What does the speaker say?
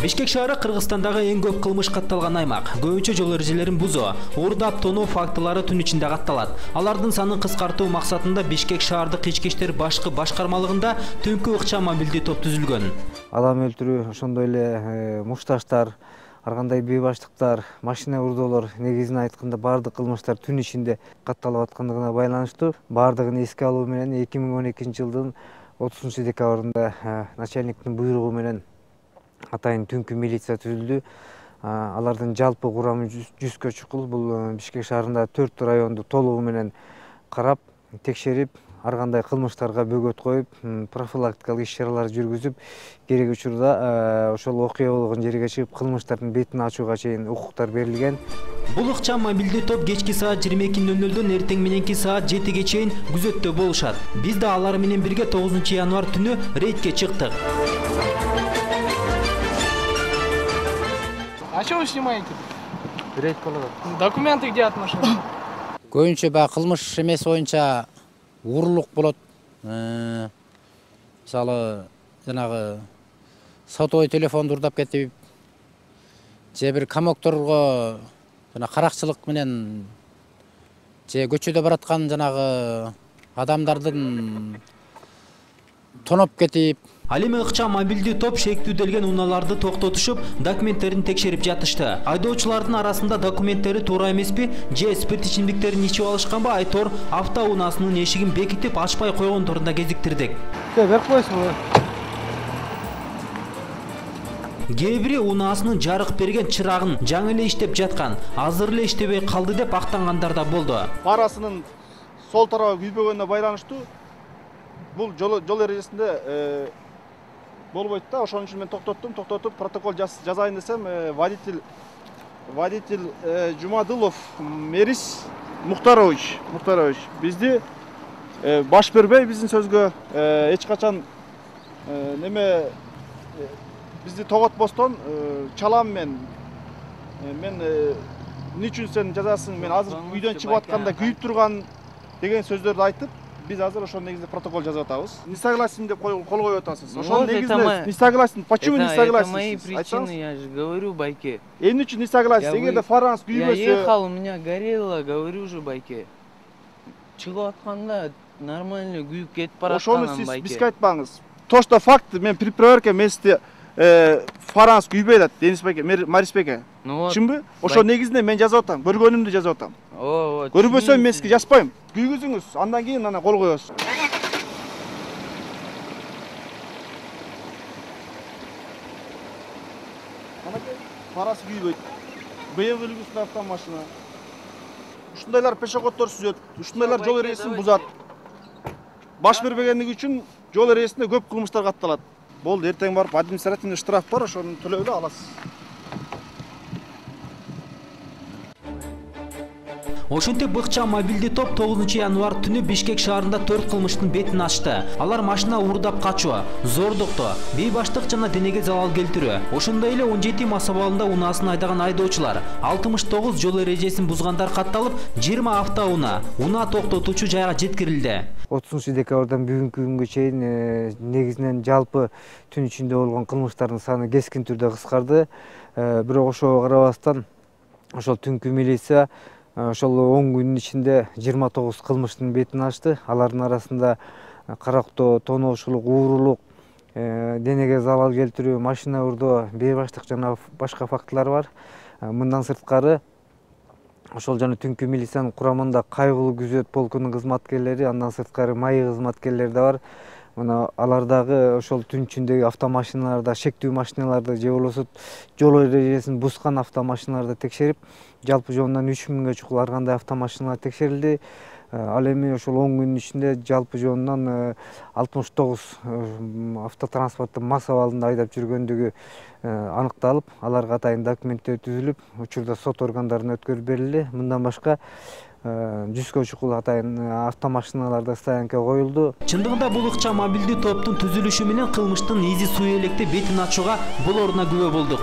Бишкек шаары Кыргызстандагы эң көп кылмыш катталган аймак. Көбүнчө жол эрежелерин бузуу, уурдап тоноо фактылары түн ичинде катталат. Алардын санын кыскартуу максатында Бишкек шаардык ички иштер башкы башкармалыгында түнкү ыкчам мобилдүү топ түзүлгөн. Адам өлтүрүү, ошондой эле мушташтар, ар кандай бейбаштыктар, машина урдоолор негизин айтканда баардык кылмыштар түн ичинде катталып аткандыгына байланыштуу. Баардыгын эске алуу менен 2012-жылдын 30-декабрында начальниктин буйругу менен атайын түнкү милиция түзүлдү. Алардын жалпы курамы 100гө чукул. Бул Бишкек шаарында 4 районду толугу менен карап, текшерип, ар кандай кылмыштарга бөгөт коюп, профилактикалык иш-чаралар жүргүзүп, керек учурда ошол окуя болгон жерге чыгып, кылмыштардын бетин ачууга чейин укуктар берилген. Бул ыкчам мобилдүү топ кечки саат 22:00-дөн эртең мененки саат 7-ге чейин күзөттө болушат. Биз да алар менен бирге 9-январь түнү рейдке чыктык. А что вы снимаете? Рейд болот. Документы где от машины? Көбүнчө баягы кылмыш эмес боюнча уурулук болот. Мисалы, жанагы сотовый телефонду урдап кетип, же бир камокторго жана каракчылык менен же көчөдө бараткан жанагы адамдардын тоноп кетип. Ал эми ыкчам мобилдүү топ шектүүделген унааларды токтотушуп, документтерин текшерип жатышты. Айдоочулардын арасында документтери туура эмеспи, же спирт ичимдиктерин ичип алышканбы, айтор автоунаасынын эшигин бекитип ачпай койгондорун кезиктирдик. Берип коесузбу? Кээ бири унаасынын жарык берген чырагын жаңы эле иштеп жаткан, азыр эле иштебей калды деп актангандар да болду. Фарасынын сол тарабы күйбөгөнүнө байланыштуу бул жол эрежесинде болбойт да. Ошон үчүн мен токтотуп, протокол жазайын десем, водитель Жумадылов Мерис Мухтарович бизди баш бербей, биздин сөзгө эч качан бизди тоготпостон чалам мен эмне үчүн сен жазасың, мен азыр үйдөн чыгып атканда күйүп турган деген сөздөрдү айтып, биз азыр ошол негизде протокол жазып атабыз. Не согласен деп кол коюп атасыз. Ошол негизде не согласен. Почему не согласен? Это мои причины, я же говорю, Байке. Эмне үчүн не согласен? Эгерде фаранс күйбөсө. Я ехал, у меня горело, говорю же, Байке. Чыгып атканда нормально күйүп кетип бараткан, Байке. Ошону сиз бизге айтпаңыз. То, что факт, мен при проверке месте фаранс күйбөй атат, Денис Байке, Марис Байке. Чынбы? Ошол негизинде мен жазып атам, көргөнүмдү жазып атам. Көрбөсөм мен сизге жазбайм. Күйгүзүңүз, андан кийин ана кол коебуз. Анакей фарасы күйбөйт. БМВ үлгүсүндө автомашина. Ушундайлар пешеходдор сүзөт, ушундайлар жол эрежесин бузат. Баш бербегендиги үчүн жол эрежесинде көп кылмыштар катталат. Болду, эртең барып административный штраф бар, ошону төлөөлү аласыз. Ошентип ыкчам мобилдүү топ 9-январь түнү Бишкек шаарында 4 кылмыштын бетин ачты. Алар машина уурдап качуу, зордуктоо, бейбаштык жана денеге залал келтирүү. Ошондой эле 17 мас абалында унаасын айдаган айдоочулар, 69 жол эрежесин бузгандар катталып, 20 автоунаа, унаа токтотуучу жайга жеткирилди. 30-декабрдан бүгүнкү күнгө чейин негизинен жалпы түн ичинде болгон кылмыштардын саны кескин түрдө кыскарды. Бирок ошого карабастан ошол түнкү милиция ошол 10 күнүн ичинде 29 кылмыштын бетин ачты. Алардын арасында карактоо, тоноочулук, уурулук, денеге залал келтирүү, машина урдоо, бейбаштык жана башка фактылар бар. Мындан сырткары ошол жана түнкү милициянын курамында кайгылуу күзөт полкунун кызматкерлери, андан сырткары майы кызматкерлери да бар. Мына алар дагы ошол түн ичиндеги автомашиналарда, шектүү машиналарды же болбосо жол эрежесин бузган автомашиналарды текшерип, жалпы жонунан 3000гө чукул ар кандай автомашиналар текшерилди. Ал эми ошол 10 күнүн ичинде жалпы жонунан 69 автотранспорттун мас абалында айдап жүргөндүгү аныкталып, аларга атайын документтер түзүлүп, учурда сот органдарына өткөрүп берилди. Мындан башка 100гө чукул атайын автомашиналарда стоянка коюлду. Чындыгында бул ыкчам мобилдүү топтун түзүлүшү менен кылмыштын изи суу электе бетин ачууга болоруна күбө болдук.